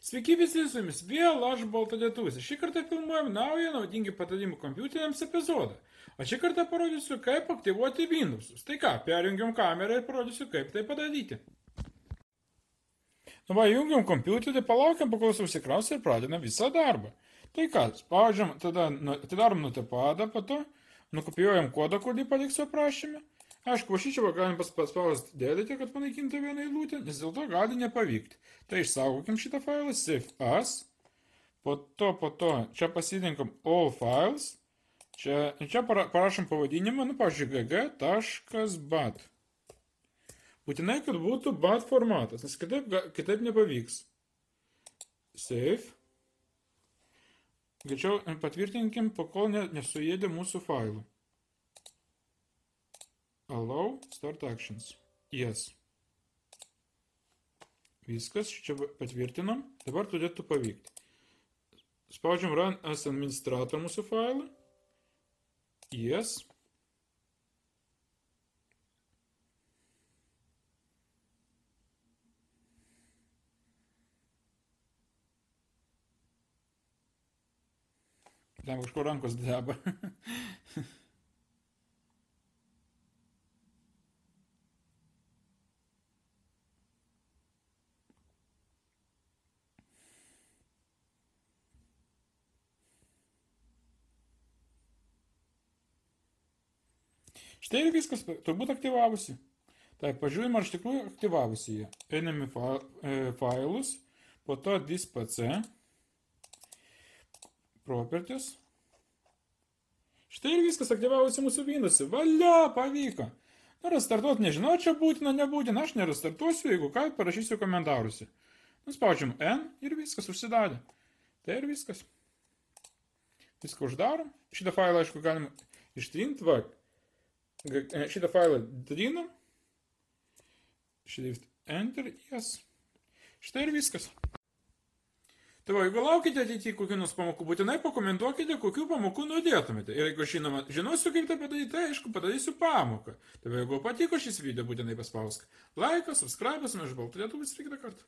Sveiki visi, su jumis vėl aš Baltalietuvis. Šį kartą filmuojam naują naudingi patarimų kompiuteriams epizodą. O šį kartą parodysiu, kaip aktyvuoti Windowsus. Tai ką, perjungiam kamerą ir parodysiu, kaip tai padaryti. Nu va, jungiam kompiuterį, palaukiam, pakol užsikraus ir pradedam visą darbą. Tai ką, spaudžiam, tada atidarom notepadą, po to nukopijuojam kodą, kurį paliksiu aprašyme. Aišku, va šičia galim paspausti dėdėti, kad panaikintų vieną eilutę, nes dėl to gali nepavykti. Tai išsaugokim šitą failą, save as, po to čia pasirinkam all files, čia parašom pavadinimą, pavyzdžiui, gg.bat. Būtinai, kad būtų bat formatas, nes kitaip nepavyks. Save. Greičiau patvirtinkim, pakol nesuėdė mūsų failų. Allow, start actions. Yes. Viskas, čia patvirtinom. Dabar turėtų pavykti. Spaudžiam run as administrator mūsų failą. Yes. Ten kažkur rankos dreba. Štai ir viskas, turbūt aktyvavusi. Taip, pažiūrėjim, ar iš tikrųjų aktyvavusi jie. Einam į failus, po to disk.pc, properties. Štai ir viskas aktyvavusi mūsų Windows'e. Valia, pavyko. Nu, restartuoti nežinau, čia būtina, nebūtina. Aš nerestartuosiu, jeigu ką, parašysiu komentaruose. Nuspaudžiam N ir viskas užsidarė. Tai ir viskas. Viską uždarom. Šitą failą, aišku, galim ištrinti, va. Šitą failą trinam. Shift Enter, yes. Štai ir viskas. Tai va, jeigu laukite ateityje kokių nors pamokų, būtinai pakomentuokite, kokių pamokų norėtumėte. Ir jeigu žinosiu, kaip tai padaryti, tai aišku, padarysiu pamoką. Tai va, jeigu patiko šis video, būtinai paspausk laiką, subscribe, aš Baltalietuvis ir kitą kartą.